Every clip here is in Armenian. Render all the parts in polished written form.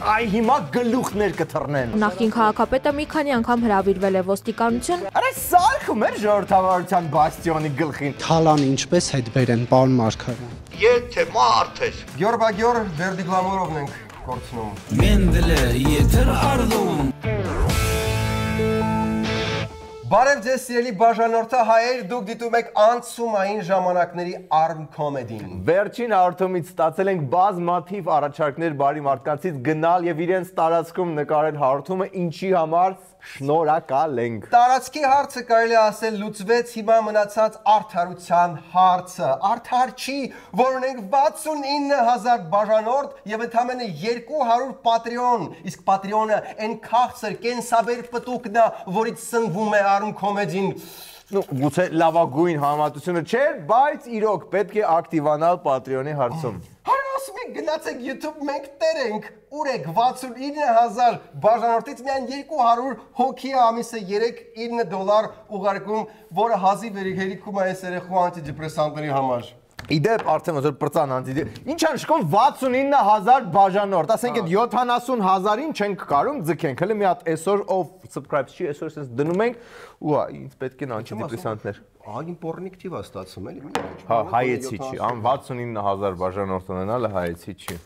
Այ հիմա գլուխներ կթռնեն։ Նախկին քաղաքապետը մի քանի անգամ հրավիրվել է ոստիկանություն։ Արա սարքում էր ժողովրդավարության բաստիոնի գլխին։ Թալանը ինչպես հետ բերեն, պարոն Մարգարյան։ Եթե մարդ ես։ Գյորբագյոր վերդիգլամորովն ենք կորցնում։ Մենդելը եթեր արդում։ Բարև ձեզ սիրելի բաժանորդը հայեր, դուք դիտում եք անցումային ժամանակների ARM Comedy-ին։ Վերջին հաղորդումից ստացել ենք բազմաթիվ առաջարկներ բարի մարդկանցից գնալ եւ իրենց տարածքում նկարել հաղորդումը, ինչի համար շնորհակալ ենք։ Տարածքի հարցը կարելի ասել լուծվեց, հիմա մնացած արդարության հարցը։ Արդար չի, որ ունենք 69000 բաժանորդ եւ ընդամենը 200 Patreon, իսկ Patreon-ը այն քաղցր կենսաբեր պտուկն է, որից սնվում է ARM Comedy-ին։ Գուցե լավագույն համատությունը չէր, բայց իրոք պետք է ակտիվանալ Patreon-ի հարցում։ Ասում եք գնացեք YouTube, մենք տեր ենք, ուր եք 69000 բաժանորդից միայն 200 հոգի ամիսը $3-9 ուղարկում, որը հազիվ հերիքում է այս երեխու անտիդեպրեսանտների համար։ Իդեպ արդեն ոնց որ պրծան անտիդեպ։ Ինչ ան շկոն 69000 բաժանորդ, ասենք այդ 70000-ին չենք կարում ձգենք։ Հələ մի հատ այսօր ով subscribe չի, այսօր sense դնում ենք ու ինձ պետք են անտիդեպրեսանտներ։ Ագին պորնիկտիվ է ստացվում էլի։ Հա, հայեցի չի, ան 69000 բաժանորդ ունենալը հայեցի չի։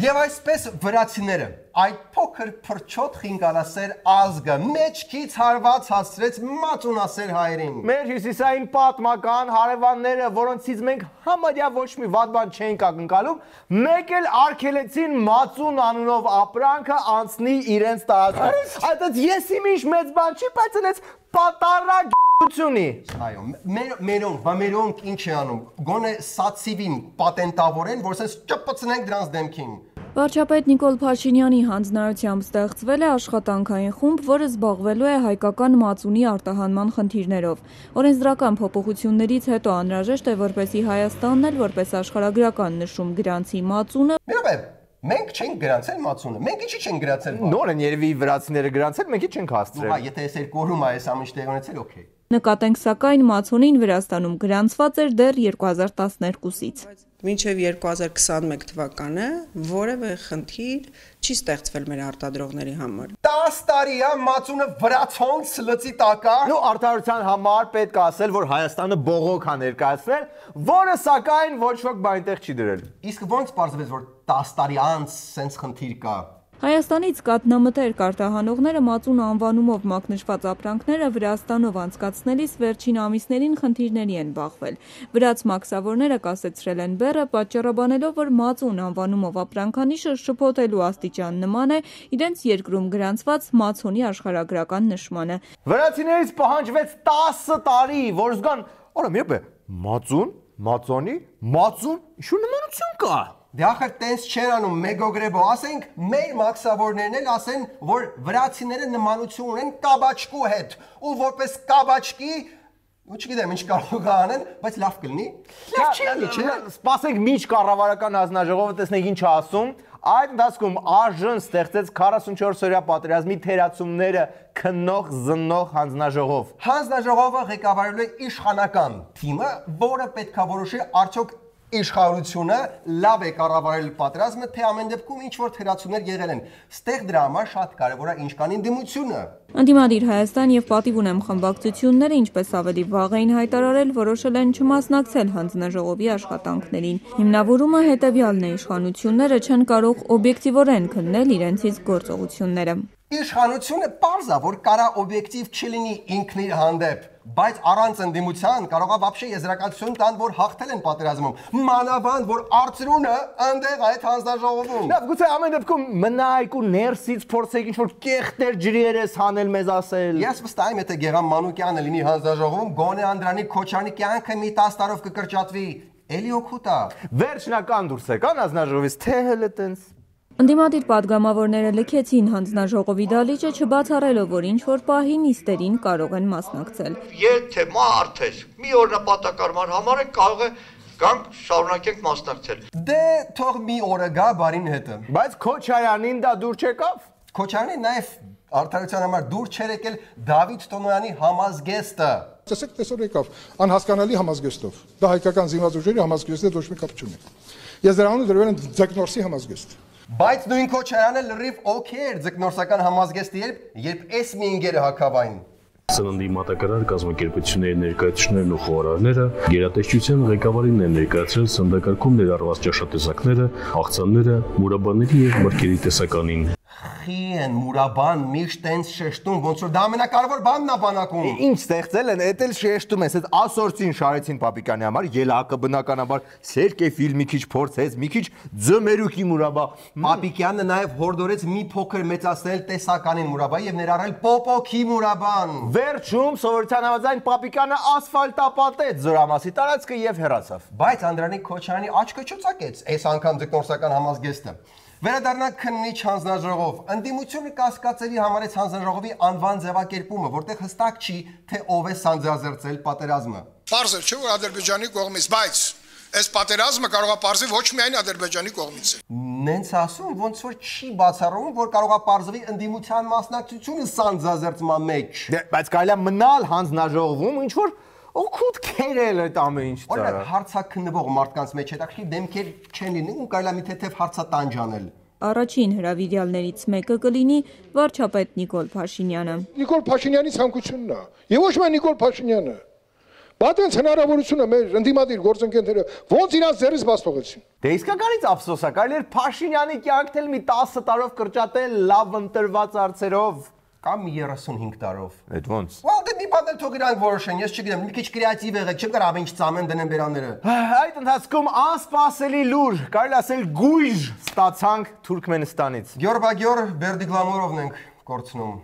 Եվ այսպես վրացիները, այդ փոքր փրչոտ խինգալասեր ազգը մեջքից հարված հասցրեց մածունասեր հայերին։ Մեր հյուսիսային պատմական հարևանները, որոնցից մենք համարյա ոչ մի վատ բան չենք ակնկալում, մեկ էլ արգելեցին մածուն անունով ապրանքը անցնի իրենց տարածքում։ Այդպես ես իմ ինչ մեծ բան չի, բայց այնպես պատարակ Այո, մերոնք ինչ է անում, գոնե սացիվին պատենտավորեն, որ սենց ճպծնենք դրանց դեմքին։ Վարչապետ Նիկոլ Փաշինյանի հանձնարարությամբ ստեղծվել է աշխատանքային խումբ, որը զբաղվելու է հայկական մածունի արտահանման խնդիրներով։ Օրենսդրական փոփոխություններից հետո անհրաժեշտ է, որպեսզի Հայաստանն էլ որպես աշխարհագրական նշում գրանցի մածունը։ Մենք չենք գրանցել մածունը, մենք ինչի չենք գրանցել։ Նոր են երևի վրացիները գրանցել, մենք չենք հասցրել։ Հա, եթե այս երկու օրում այս ամիջ տեղ ունեցել, օքեյ։ Նկատենք սակայն մածունին Վրաստանում գրանցված էր դեռ 2012-ից։ Մինչև 2021 թվականը որևէ խնդիր չի ստեղծվել մեր արտադրողների համար։ 10 տարի է մածունը վրացոնց լծի տակա։ Ու արդարության համար պետք է ասել, որ Հայաստանը բողոք է ներկայացրել, որը սակայն ոչ ոք բանտեղ չի դրել։ Իսկ ո՞նց պարզվեց, որ 10 տարի անց սենց խնդիր կա։ Հայաստանից կատնամտեր կարտահանողները մածուն անվանումով մակնշված ապրանքները Վրաստանով անցկացնելիս վերջին ամիսներին խնդիրների են բախվել։ Վրաց մաքսավորները կասեցրել են բեռը, պատճառաբանելով, որ մածուն անվանումով ապրանքանիշը շփոթելու աստիճան նման է իրենց երկրում գրանցված մածունի աշխարհագրական նշմանը։ Վրացիներից պահանջվեց 10 տարի, որ զգան, օրա մի բե, մածոնի, ինչ նմանություն կա։ Դե ախր տենց չեն անում մեգոգրեբո, ասենք մեր մաքսավորներն էլ ասեն, որ վրացիները նմանություն ունեն կաբաչկու հետ, ու որպես կաբաչկի, ու չգիտեմ ինչ կարող անեն, բայց լավ կլինի։ Լավ չի, չէ՞։ Սպասենք մինչ կառավարական հանձնաժողովը տեսնենք ինչ է ասում։ Այդ ընթացքում ԱԺ-ն ստեղծեց 44-օրյա պատերազմի թերացումները քննող զննող հանձնաժողով։ Հանձնաժողովը ղեկավարելու է իշխանական թիմը, որը պետք է որոշի արդյոք իշխանությունը լավ է կառավարել պատերազմը, թե ամեն դեպքում ինչ որ թերացումներ եղել են։ Ստեղ դրա համար շատ կարևոր է ինչ կան ընդդիմությունը։ Ընդդիմադիր Հայաստան եւ Պատիվ ունեմ խմբակցությունները, ինչպես ավելի վաղ էին հայտարարել, որոշել են չմասնակցել հանձնաժողովի աշխատանքներին։ Հիմնավորումը հետեւյալն է՝ իշխանությունները չեն կարող օբյեկտիվորեն քննել իրենցից գործողությունները։ Իշխանությունը պարզ է, որ կարա օբյեկտիվ չլինի ինքն իր հանդեպ, բայց առանց ընդդիմության կարող է вообще եզրակացություն տան, որ հաղթել են պատերազմում, մանավանդ որ արծրունը այնտեղ այդ հանձնաժողովում։ Լավ, գուցե ամեն դեպքում մնայք ու ներսից փորձեք ինչ որ կեղտեր ջրերես հանել մեզ ասել։ Ես վստահ եմ, եթե Գեգամ Մանուկյանը լինի հանձնաժողովում, գոնե Անդրանիկ Քոչարյանի կյանքը մի 10 տարով կկրճատվի։ Էլի օգուտ է։ Վերջնական դուրս եկան հանձնաժողովից, թե հələ տենց։ Ընդդիմադիր падգամավորները լքեցին հանձնաժողովի դալիճը, չբացառելով, որ ինչ-որ պահի նիստերին կարող են մասնակցել։ Եթե մարդ ես, մի օրնապատակարար համար կարող է գանք շարունակենք մասնակցել։ Դե թող մի օրը գա բարին հետը։ Բայց Քոչարյանին դա դուր չեկավ։ Քոչարյանին նաև արդարության համար դուր չեր եկել Դավիթ Տոնոյանի համազգեստը։ Տեսեք, տեսօր եկավ անհասկանալի համազգեստով։ Դա հայկական զինված ուժերի համազգեստի ոչ մի կապ չունի։ Ես դրանով դրվել եմ ձկնորսի համազգեստ։ Բայց նույն քոչարանը լրիվ օքեյ էր ձկնորսական համազգեստի երբ էս մի ինգերը հակավային։ Սննդի մատակարար կազմակերպությունների ներկայացուցիչներն ու խոհարարները գերատեսչության ղեկավարին են ներկայացրել սննդակարգում ներառված ճաշատեսակները, աղցանները, մուրաբաների եւ մրգերի տեսականին։ Խիեն մուրաբան միշտ այնց շեշտում, ոնց որ դա ամենակարևոր բանն է բանակում։ Ինչ ստեղծել են, էդ էլ շեշտում ես, այդ ասորցին շարեցին Պապիկյանի համար, ելակը բնականաբար Սերկեֆիլ մի քիչ փորձեց, մի քիչ ձմերուկի մուրաբա։ Պապիկյանը նաև հորդորեց մի փոքր մեծացնել տեսականին մուրաբայի եւ ներառել պոպոքի մուրաբան։ Վերջում սովորության համաձայն Պապիկյանը ասֆալտապատեց Զորամասի տարածքը եւ հեռացավ։ Բայց Անդրանիկ Քոչարյանի աչքը չծակեց այս անգամ ձկնորսական համազգեստը։ Վերադառնանք քննիչ հանձնաժողով։ Ընդդիմությունը կասկածելի համարեց հանձնաժողովի անվան ձևակերպումը, որտեղ հստակ չի, թե ով է սանձազերծել պատերազմը։ Պարզ է, չէ՞ որ Ադրբեջանի կողմից, բայց այս պատերազմը կարող է պարզվել ոչ միայն Ադրբեջանի կողմից։ Նենց ասում, ոնց որ չի բացառում, որ կարող է պարզվի ընդդիմության մասնակցությունը սանձազերծման մեջ։ Բայց կարելի է մնալ հանձնաժողովում, ինչ որ օգուտ քերել այդ ամեն ինչ ծառա։ Օրինակ հարցաքննվող մարդկանց մեջ հետաքրքիր դեմքեր չեն լինի ու կարելի է մի թեթև հարցատանջ անել։ Առաջին հրավիրյալներից մեկը կլինի վարչապետ Նիկոլ Փաշինյանը։ Նիկոլ Փաշինյանի ցանկությունն է, եւ ոչ միայն Նիկոլ Փաշինյանը։ Բաթենց հնարավորությունը մեր ընդդիմադիր գործընկերները ոնց իրանց ձեռից բաց թողեցին։ Դե իսկականից ափսոս է, կարելի էր Փաշինյանի կյանքն էլ մի 10 տարով կրճատել լավ ընտրված արծերով։ Կամ 35 տարով։ Այդ ոնց։ Դե մի բան էլ թող իրանք որոշեն, ես չգիտեմ, մի քիչ կրեատիվ եղեք, չեմ կարող ինչ ծամեն դնեմ բերանները։ Այդ ընթացքում անսպասելի լուր, կարելի ասել գույժ ստացանք Թուրքմենստանից։ Գյորբագյոր Բերդիգլամորովն ենք կորցնում։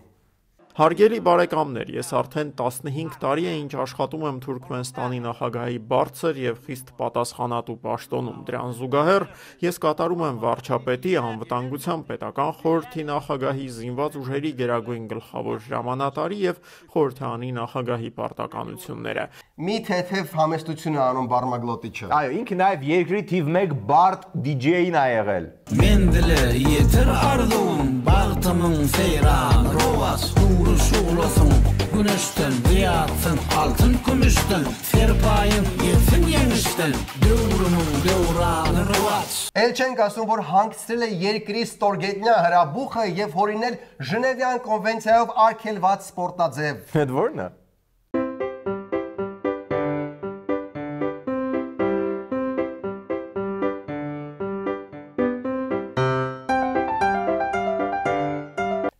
Հարգելի բարեկամներ, ես արդեն 15 տարի է ինչ աշխատում եմ Թուրքմենստանի նախագահի բարձր եւ խիստ պատասխանատու պաշտոնում։ Դրան զուգահեռ ես կատարում եմ վարչապետի անվտանգության պետական խորհրդի նախագահի զինված ուժերի գերագույն գլխավոր հրամանատարի եւ խորհրդանի նախագահի պարտականությունները։ Մի թեթև համեստություն է անում բարմագլոտիչը։ Այո, ինքը նաեւ երկրի թիվ 1 բարդ DJ-ին է եղել։ Mendele yeter ardum bağtımın seyran rovas nuru şuğlasın güneşten diyatsın altın kümüşten serpayın yetin yenişten dövrumun dövranı rovas Էլ չենք ասում, որ հանգցրել է երկրի ստորգետնյա հրաբուխը եւ հորինել Ժնևյան կոնվենցիայով արգելված սպորտաձև։ Այդ ո՞րն է։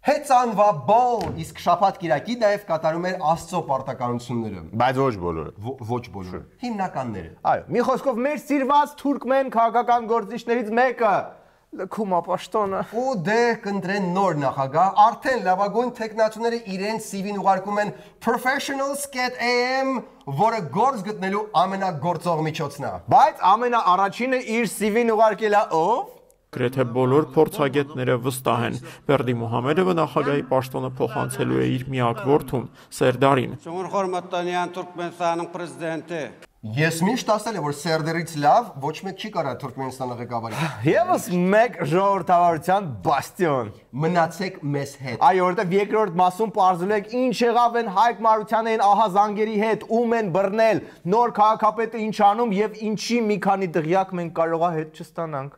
Հեծանվա բոլ, իսկ շաբաթ կիրակի նաև կատարում էր Աստծո պարտականությունները։ Բայց ոչ բոլորը։ Ոչ բոլորը։ Հիմնականները։ Այո, մի խոսքով մեր սիրված թուրքմեն քաղաքական գործիչներից մեկը լքում ապաշտոնը։ Ու դե կընտրեն նոր նախագահ, արդեն լավագույն տեխնացուները իրենց CV-ն ուղարկում են professionals.am, որը գործ գտնելու ամենագործող միջոցն է։ Բայց ամենաառաջինը իր CV-ն ուղարկել է ով։ Գրեթե բոլոր փորձագետները վստահ են Բերդի Մուհամեդովը նախագահի պաշտոնը փոխանցելու է իր միակ որդուն Սերդարին։ Ես միշտ ասել եմ, որ Սերդերից լավ ոչ մեկ չի կարող Թուրքմենստանը ղեկավարել։ Եվս մեկ ժողովրդավարության բաստիոն։ Մնացեք մեզ հետ։ Այո, որտեղ երկրորդ մասում պարզել եք ինչ եղավ են Հայկ Մարությանն ահա զանգերի հետ, ում են բռնել, նոր քաղաքապետը ինչ անում եւ ինչի մի քանի դղյակ մենք կարողա հետ չստանանք։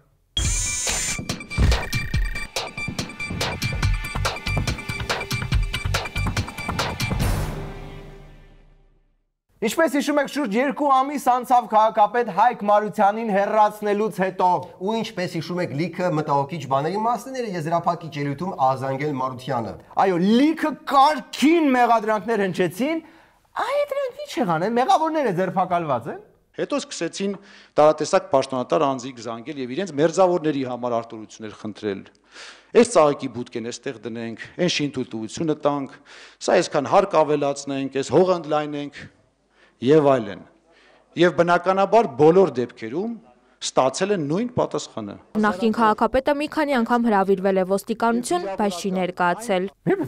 Ինչպես հիշում եք, շուրջ 2 ամիս անցավ քաղաքապետ Հայկ Մարությանին հեռացնելուց հետո։ Ու ինչպես հիշում եք, լիքը մտահոգիչ բաների մասները եզրափակիչ ելույթում Ազանգել Մարությանը։ Այո, լիքը կարգին մեղադրանքներ հնչեցին, այդ դրանք ինչ եղան են, մեղավորները ձերբակալված են։ Հետո սկսեցին տարատեսակ պաշտոնատար անձիկ զանգել եւ իրենց մերձավորների համար արտոնություններ խնդրել։ Այս ծաղիկի բուտկեն էստեղ դնենք, այն շինթույլտվությունը տանք, սա այսքան հարկ ավելացնենք, այս հողը ընդլայնենք եւ այլն։ Եվ բնականաբար բոլոր դեպքերում ստացել են նույն պատասխանը։ Նախկին քաղաքապետը մի քանի անգամ հրավիրվել է ոստիկանություն, բայց չի ներկայացել։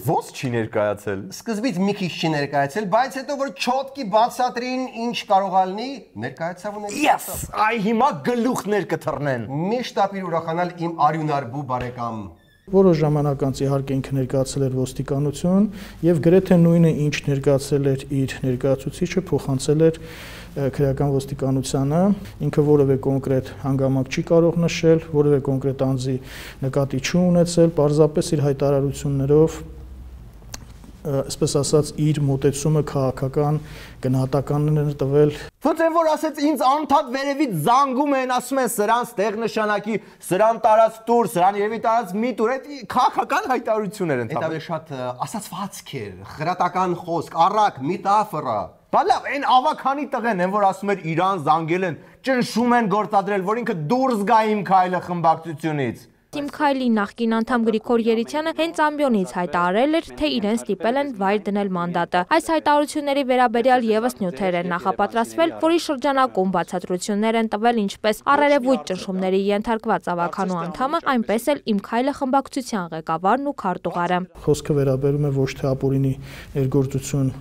Ոնց չի ներկայացել։ Սկզբից մի քիչ չի ներկայացել, բայց հետո որ չոտկի բացատրին ինչ կարող է լինի, ներկայացավ ու ներկայացավ։ Այ հիմա գլուխներ կթռնեն։ Միշտ ապիր ուրախանալ իմ արյունարբու բարեկամ։ Որոշ ժամանակ անց իհարկե ինքը ներկայացել էր ոստիկանություն եւ գրեթե նույնը ինչ ներկայացել էր իր ներկայացուցիչը փոխանցել էր քրեական ոստիկանությանը, ինքը որևէ կոնկրետ հանգամանք չի կարող նշել, որևէ կոնկրետ անձի նկատի չի ունեցել, պարզապես իր հայտարարություններով այսպես ասած իր մոտեցումը քաղաքական գնահատականն էր տվել։ Ոնց են որ ասեց ինձ անդադ վերևից զանգում են, ասում են սրան ստեղ նշանակի, սրան տարած տուր, սրան երևի տարած մի տուր, այդ քաղաքական հայտարարություններ են տալիս։ Դա շատ ասացվածք էր, խրատական խոսք, առակ, միտաֆորա։ Բա լավ, այն ավականի տղեն են որ ասում էր իրան զանգել են, ճնշում են գործադրել, որ ինքը դուրս գա իմ քայլը խմբակցությունից։ Թիմ Քայլի նախկին անդամ Գրիգոր Երիցյանը հենց ամբիոնից հայտարարել էր, թե իրեն ստիպել են վայր դնել մանդատը։ Այս հայտարարությունների վերաբերյալ եւս նյութեր են նախապատրաստվել, որի շրջանակում բացատրություններ են տվել ինչպես առերևույթ ճնշումների ենթարկված ավականու անդամը, այնպես էլ Իմ Քայլը խմբակցության ղեկավարն ու քարտուղարը։ Խոսքը վերաբերում է ոչ թե ապօրինի ներգործություն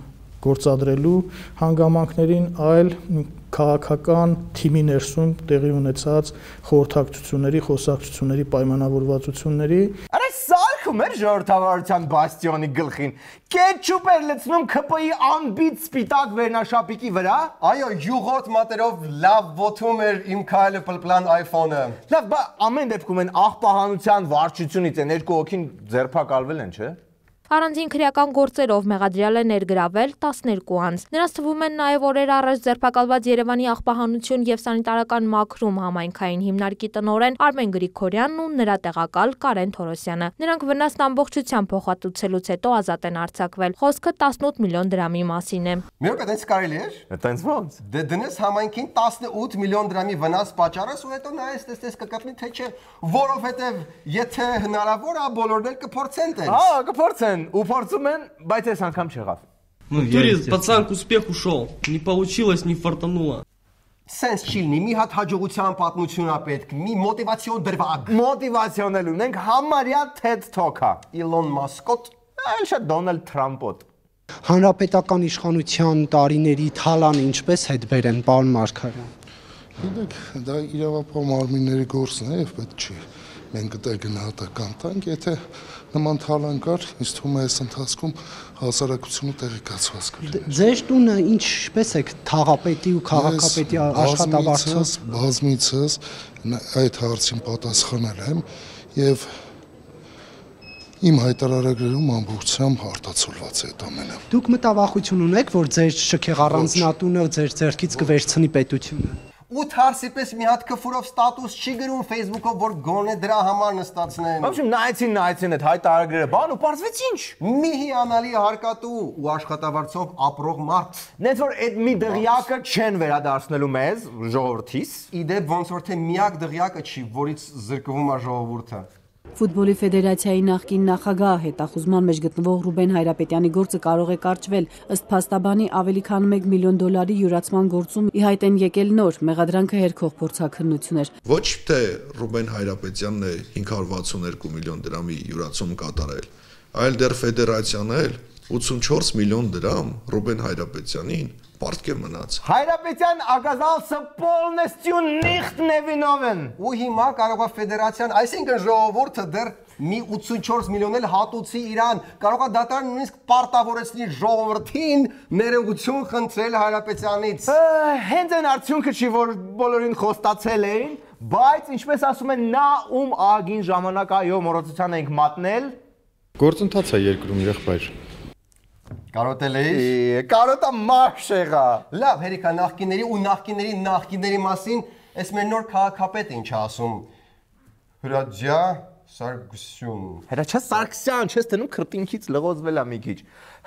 գործադրելու հանգամանքներին, այլ քաղաքական թիմի ներսում տեղի ունեցած խորհրդակցությունների, խոսակցությունների պայմանավորվածությունների։ Արա սարքում էր ժողովրդավարության բաստիոնի գլխին։ Կետչուպ էր լցնում ԿՊ-ի անբիծ սպիտակ վերնաշապիկի վրա։ Այո, յուղոտ մատերով լավ ոտում էր Իմ Քայլը պլպլան iPhone-ը։ Լավ, բա ամեն դեպքում են աղբահանության վարչությունից են երկու հոգին ձերբակալվել են, չէ՞։ Առանձին քրեական գործերով մեղադրյալ է ներգրավել 12 անձ։ Նրանց թվում են նաև օրեր առաջ ձերբակալված Երևանի աղբահանություն եւ սանիտարական մաքրում համայնքային հիմնարկի տնօրեն Արմեն Գրիգորյանն ու նրա տեղակալ Կարեն Թորոսյանը։ Նրանք վնասն ամբողջությամբ փոխհատուցելուց հետո ազատ են արձակվել։ Խոսքը 18 միլիոն դրամի մասին է։ Մի րոպե, այդպես կարելի է։ Այդպես ոնց։ Դե դնես համայնքին 18 միլիոն դրամի վնաս պատճառես ու հետո նայես տեսես կկրտնի թե չէ, որովհետեւ եթե հնարավոր է բոլորն էլ կփորձեն տենց։ Հա, կփորձեն։ У փորձում են, բայց այս անգամ չեղավ։ В туре пацан к успеху ушел. Не получилось, не фартануло. Սենց չի լինի, մի հատ հաջողության պատմություն է պետք, մի մոտիվացիոն դրվագ։ Մոտիվացիոն էլ ունենք համարյա TED Talk-ը։ Իլոն Մասկոտ, այլ շատ Դոնալդ Թրամպոտ։ Հանրապետական իշխանության տարիների թալանը ինչպես հետ բերեն, պարոն Մարգարյան։ Գիտեք, դա իրավապահ մարմինների գործն է եւ պետք չի։ Մենք դա գնահատական տանք, եթե նման թալան կար, ինձ թվում է այս ընթացքում հասարակությունը տեղեկացված կլիներ։ Ձեր տունը ինչպես է թաղապետի ու քաղաքապետի աշխատավարձով բազմիցս այդ հարցին պատասխանել եմ եւ իմ հայտարարագրերում ամբողջությամբ արտացոլված է այդ ամենը։ Դուք մտավախություն ունեք, որ ձեր շքեղ առանձնատունը ձեր ձեռքից կվերցնի պետությունը։ 8 հարսի պես մի հատ քֆուրով ստատուս չի գրում Facebook-ով, որ գոնե դրա համար նստացնեն։ Ոբշեմ նայեցին այդ հայտարարագրերը, բան ու պարզվեց ինչ։ Մի հիանալի հարկատու ու աշխատավարձով ապրող մարդ։ Նենց որ այդ մի դղյակը չեն վերադարձնելու մեզ, ժողովրդիս։ Իդեպ ոնց որ թե միակ դղյակը չի, որից զրկվում է ժողովուրդը։ Ֆուտբոլի ֆեդերացիայի նախկին նախագահ հետախուզման մեջ գտնվող Ռուբեն Հայրապետյանի գործը կարող է կարճվել։ Ըստ փաստաբանի ավելի քան $1 միլիոն յուրացման գործում ի հայտ են եկել նոր մեղադրանքը հերքող փորձաքննություններ։ Ոչ թե Ռուբեն Հայրապետյանն է 562 միլիոն դրամի յուրացում կատարել, այլ դեռ ֆեդերացիան էլ 84 միլիոն դրամ Ռուբեն Հայրապետյանին պարտք է մնաց։ Հայրապետյան ակազալսը полностью nicht невиновен։ Ու հիմա կարող է ֆեդերացիան, այսինքն ժողովուրդը դեռ մի 84 միլիոն էլ հատուցի իրան, կարող է դատարան նույնիսկ պարտավորեցնի ժողովրդին ներողություն խնդրել Հայրապետյանից։ Հենց այն արդյունքը չի, որ բոլորին խոստացել էին, բայց ինչպես ասում են, նա ում ագին ժամանակ այո մոռացության ենք մատնել։ Գործընթաց է երկրում եղբայր։ Կարոտել էի։ Կարոտա մարշ եղա։ Լավ, հերիքա նախկինների ու նախկինների մասին, այս մեր նոր քաղաքապետը ինչ ասում։ Հրաչյա Սարգսյան։ Հրաչյա Սարգսյան, չես տնում քրտինքից լղոզվել է մի քիչ։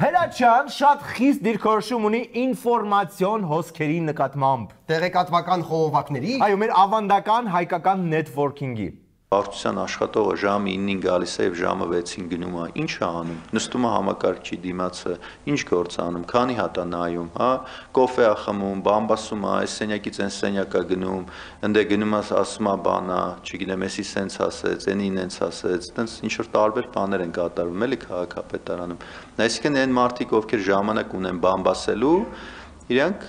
Հրաչյան շատ խիստ դիրքորոշում ունի ինֆորմացիոն հոսքերի նկատմամբ։ Տեղեկատվական խողովակների։ Այո, մեր ավանդական հայկական նետվորքինգի։ Վարչության աշխատողը ժամը 9-ին գալիս է եւ ժամը 6-ին գնում է, ինչ է անում, նստում է համակարգչի դիմացը, ինչ գործ անում, քանի հատ է նայում, հա, կոֆե է խմում, բամբասում է, այս սենյակից այն սենյակա գնում, ընդ է գնում է ասում է բանա, չգիտեմ, էսի սենց ասեց, այնին այնց ասեց, տենց ինչ որ տարբեր բաներ են կատարվում, էլի քաղաքապետարանում։ Այսինքն այն մարդիկ, ովքեր ժամանակ ունեն բամբասելու, Իրանք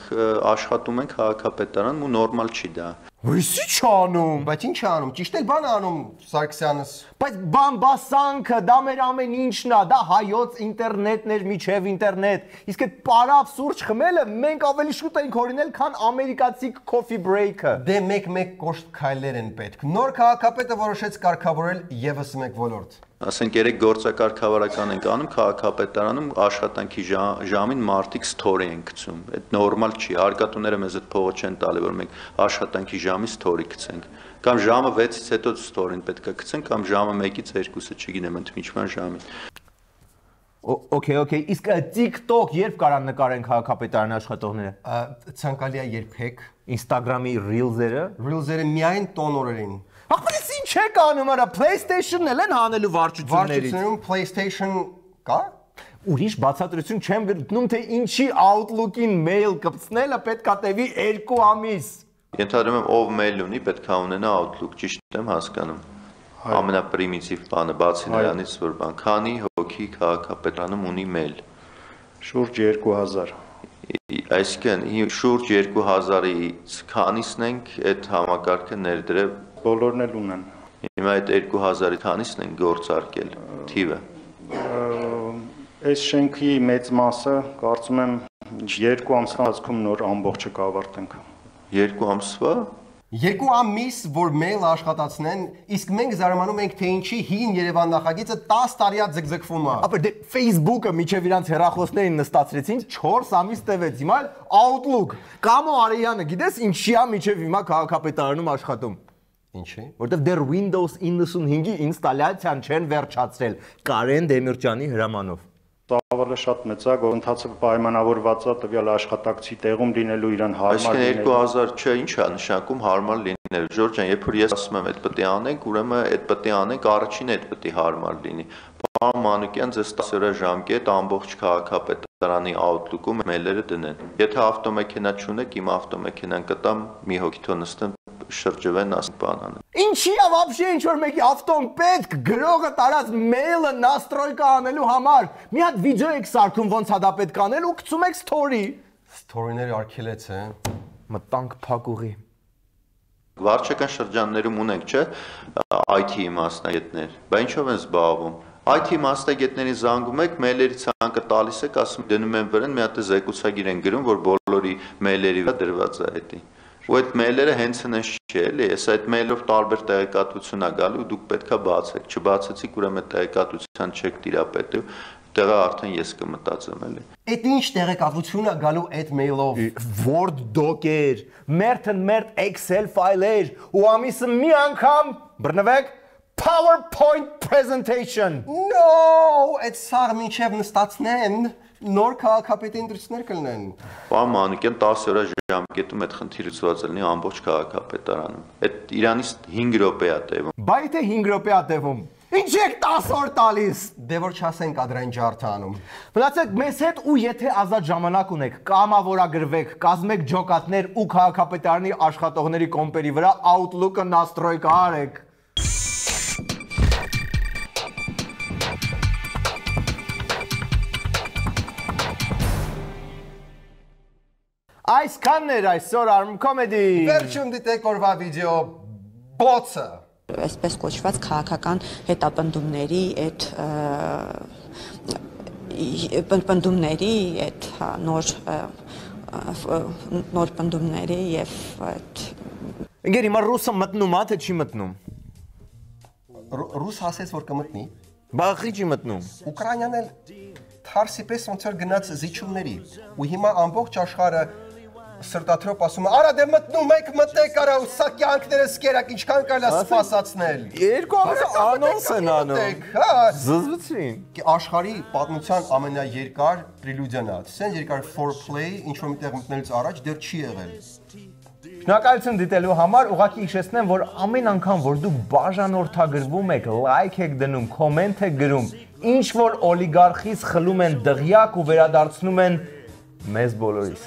աշխատում են քաղաքապետարանում ու նորմալ չի դա։ Ույսի չանում։ Բայց ինչ անում, ճիշտ էլ բան անում Սարգսյանս։ Բայց բամբասանքը, դա մեր ամեն ինչն է, դա հայոց ինտերնետն էր միջև ինտերնետ։ Իսկ այդ պարավ սուրճ խմելը մենք ավելի շուտ ենք հորինել, քան ամերիկացի coffee break-ը։ Դե մեկ կոշտ քայլեր են պետք։ Նոր քաղաքապետը որոշեց կարգավորել եւս մեկ ոլորտ։ Ասենք երեք գործակարգավարական ենք անում քաղաքապետարանում աշխատանքի ժամին մարդիկ story են գցում։ Այդ նորմալ չի։ Հարկատուները մեզ այդ փողը չեն տալի, որ մենք աշխատանքի ժամի story գցենք։ Կամ ժամը 6-ից հետո story-ն պետք է գցենք, կամ ժամը 1-ից 2-ը, չգիտեմ, ընդմիջման ժամին։ Okay, իսկ TikTok երբ կարան նկարեն քաղաքապետարանի աշխատողները։ Ցանկալի է երբեք Instagram-ի Reels-երը միայն տոնորերին։ Ախպերից ինչ եք անում արա, PlayStation-ն էլ են հանելու վարչություններից։ Վարչությունում PlayStation կա։ Ուրիշ բացատրություն չեմ գտնում, թե ինչի Outlook-ին mail կպցնելը պետք է տևի 2 ամիս։ Ենթադրում եմ ով mail ունի, պետք է ունենա Outlook, ճիշտ եմ հասկանում։ Ամենապրիմիտիվ բանը բացի նրանից, որ բան, քանի հոգի քաղաքապետարանում ունի mail։ Շուրջ 2000։ Այսինքն շուրջ 2000-ից քանիսն ենք այդ համակարգը ներդրել։ Բոլորն էլ ունեն։ Հիմա այդ 2000-ի քանիսն են գործարկել թիվը։ Այս շենքի մեծ մասը կարծում եմ 2 ամսվա ընթացքում նոր ամբողջը կավարտենք։ 2 ամսվա 2 ամիս, որ mail աշխատացնեն, իսկ մենք զարմանում ենք, թե ինչի հին Երևան նախագիծը 10 տարի է ձգձգվում է։ Ապա դե Facebook-ը միջև իրանց հեռախոսներին նստացրեցին 4 ամիս տևեց, հիմա Outlook։ Կամո Արեյանը, գիտես ինչի է միջև հիմա քաղաքապետարանում աշխատում։ Ինչի՞։ Որտեվ դեռ Windows 95-ի ինստալյացիան չեն վերջացրել Կարեն Դեմիրճյանի հրամանով։ Ծավալը շատ մեծ է, գործընթացը պայմանավորված է տվյալ աշխատակցի տեղում լինելու իրան հարմար լինելու։ Այսինքն 2000 չէ, ինչ է նշանակում հարմար լինելու։ Ժորժ ջան, երբ որ ես ասում եմ, այդ պետք է անենք, ուրեմն այդ պետք է անենք, առաջին այդ պետք է հարմար լինի։ Պարոն Մանուկյան, ձեզ 10 օր ժամկետ ամբողջ քաղաքապետարանի Outlook-ում մեյլերը դնեն։ Եթե ավտոմեքենա չունեք, իմ ավտոմեքենան կտամ, մի հոգի թող նստեն շրջվեն ասենք բան անեն։ Ինչի՞ է вообще ինչ որ մեկի ավտոն պետք գրողը տարած մեյլը նաստրոյկա անելու համար։ Մի հատ վիդեո եք սարքում ոնց է դա պետք անել ու գցում եք story։ Story-ները արգելեց է։ Մտանք փակուղի։ Վարչական շրջաններում ունենք, չէ՞, IT մասնագետներ։ Բա ինչով են զբաղվում։ IT մասնագետներին զանգում եք, մեյլերի ցանկը տալիս եք, ասում դնում են վրան, մի հատ զեկուցագիր են գրում, որ բոլորի մեյլերի վրա դրված է դա։ Ու այդ մեյլերը հենց հենց չի էլի, ես այդ մեյլով տարբեր տեղեկատվություն է գալու ու դուք պետքա բացեք, չբացեցիք, ուրեմն այդ տեղեկատվության չեք տիրապետի, տեղը արդեն ես կմտածեմ էլի։ Այդ ինչ տեղեկատվություն է գալու այդ մեյլով։ Word doc-էր, մերթ Excel ֆայլեր ու ամիսը մի անգամ բռնվեք PowerPoint presentation։ No, այդ սաղ մինչև նստացնեն նոր քաղաքապետի ընտրություններ կլինեն։ Պարոն Մանուկյան 10 օր ժամկետում այդ խնդիրը լուծված լինի ամբողջ քաղաքապետարանում։ Այդ Իրանից 5 րոպե է տևում։ Բայ թե 5 րոպե է տևում։ Ինչ եք 10 օր տալիս։ Դե որ չասենք ադրային ջարդը անում։ Մնացեք մեզ հետ ու եթե ազատ ժամանակ ունեք, կամավորագրվեք, կազմեք ջոկատներ ու քաղաքապետարանի աշխատողների կոմպերի վրա Outlook-ը նաստրոյկա արեք։ Այսքանն էր այսօր Arm Comedy։ Վերջում դիտեք օրվա վիդեո բոցը։ Այսպես կոչված քաղաքական հետապնդումների այդ պնդումների այդ նոր պնդումների եւ այդ Ինգեր հիմա ռուսը մտնում է թե չի մտնում։ Ռուս ասեց որ կմտնի։ Բախի չի մտնում։ Ուկրաինան էլ թարսի պես ոնց որ գնաց զիջումների ու հիմա ամբողջ աշխարհը սրտաթրոպ ասում է, արա դե մտնում եք, մտեք արա, սա կյանքներս կերակ, ինչքան կարելի է սպասացնել։ Երկու ամսը անոնս են անում։ Զզվեցին։ Աշխարհի պատմության ամենաերկար պրելյուդիան է։ Սենց երկար foreplay, ինչ որ միտեղ մտնելուց առաջ դեռ չի եղել։ Շնորհակալություն դիտելու համար, ուղղակի հիշեցնեմ, որ ամեն անգամ, որ դուք բաժանորդագրվում եք, լայք եք դնում, կոմենտ եք գրում, ինչ որ օլիգարխից խլում են դղյակ ու վերադարձնում են մեզ բոլորիս։